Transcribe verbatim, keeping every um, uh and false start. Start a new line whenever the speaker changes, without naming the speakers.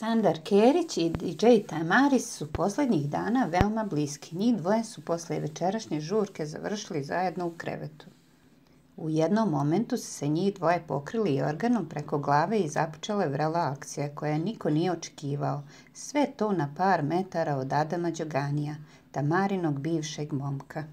Sandar Kerić i D J Tamaris su posljednjih dana veoma bliski. Njih dvoje su posle večerašnje žurke završili zajedno u krevetu. U jednom momentu su se njih dvoje pokrili jorganom preko glave i započela je vrela akcija koja niko nije očekivao. Sve to na par metara od Adama Đoganija, Tamarinog bivšeg momka.